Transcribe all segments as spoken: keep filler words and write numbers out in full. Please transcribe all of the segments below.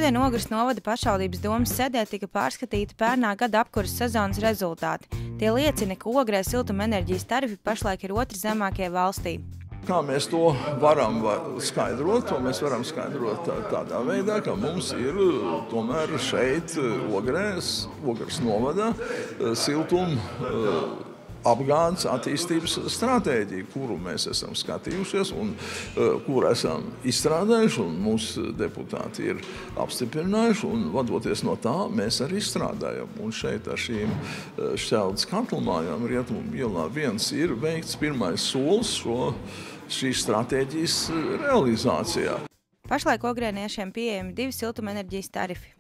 Šodien Ogres novada pašvaldības domas sēdē tika pārskatīti pērnā gada apkuras sezonas rezultāti. Tie liecina, ka Ogrē siltumenerģijas tarifi pašlaik ir otri zemākie valstī. Kā mēs to varam skaidrot? To mēs varam skaidrot tādā veidā, ka mums ir tomēr šeit Ogrēs, Ogres novadā siltuma apgādes attīstības stratēģija, kuru mēs esam skatījušies un kuru esam izstrādājuši, un mūsu deputāti ir apstiprinājuši, un vadoties no tā, mēs arī strādājam. Un šeit ar šīm šķeldes katlmājām Rietumu ielā viens ir veikts pirmais solis šo šīs stratēģijas realizācijā. Pašlaik ogrēniešiem pieejami divi siltumenerģijas tarifi.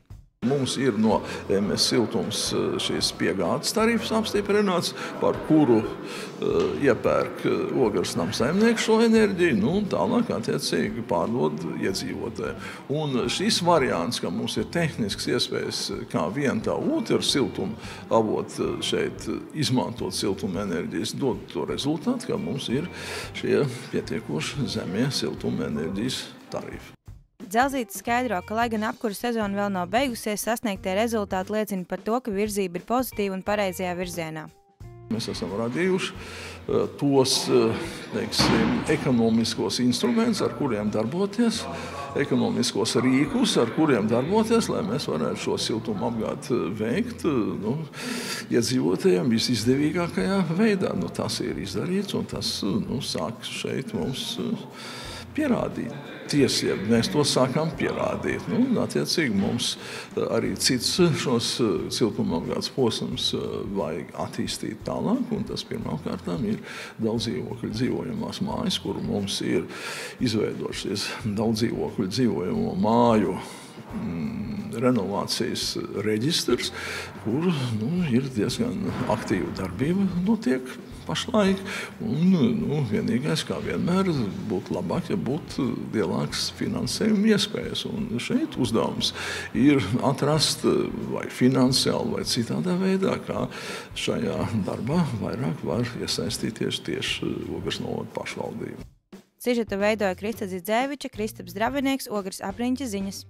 Mums ir no M S Siltums šīs piegādes tarifs apstiprināts, par kuru uh, iepērk Ogres namsaimnieks šo enerģiju, nu, un tālāk attiecīgi pārdod iedzīvotāji. Un šis variants, ka mums ir tehnisks iespējas kā vien tā otru siltumu avot šeit izmantot siltumenerģijas, dod to rezultātu, ka mums ir šie pietiekoši zemie siltumenerģijas tarifi. Dzelzītis skaidro, ka, lai gan apkuras sezona vēl nav beigusies, sasniegtie rezultāti liecina par to, ka virzība ir pozitīva un pareizajā virzienā. Mēs esam radījuši tos, teiksim, ekonomiskos instrumentus, ar kuriem darboties, ekonomiskos rīkus, ar kuriem darboties, lai mēs varētu šo siltumu apgādi veikt, nu, iedzīvotājiem visizdevīgākajā veidā. Nu, tas ir izdarīts, un tas, nu, sāk šeit mums pierādīt. Tiesība, mēs to sākām pierādīt. Nu, attiecīgi mums arī cits šos siltumapgādes posms vajag attīstīt tālāk, un tas pirmkārtām ir daudz dzīvokļu dzīvojamās mājas, kuru mums ir izveidošies daudz dzīvokļu dzīvojamo māju mm, renovācijas reģistrs, kur nu, ir diezgan aktīva darbība notiek pašlaik, un nu, vienīgais, kā vienmēr, būtu labāk, ja būtu lielāks finansējuma iespējas. Un šeit uzdevums ir atrast vai finansiāli vai citādā veidā, kā šajā darbā vairāk var iesaistīties tieši Ogres novada pašvaldība. Sižetu veidoja Krista Dzidzēviča, Kristaps Dravinieks, Ogres apriņķa ziņas.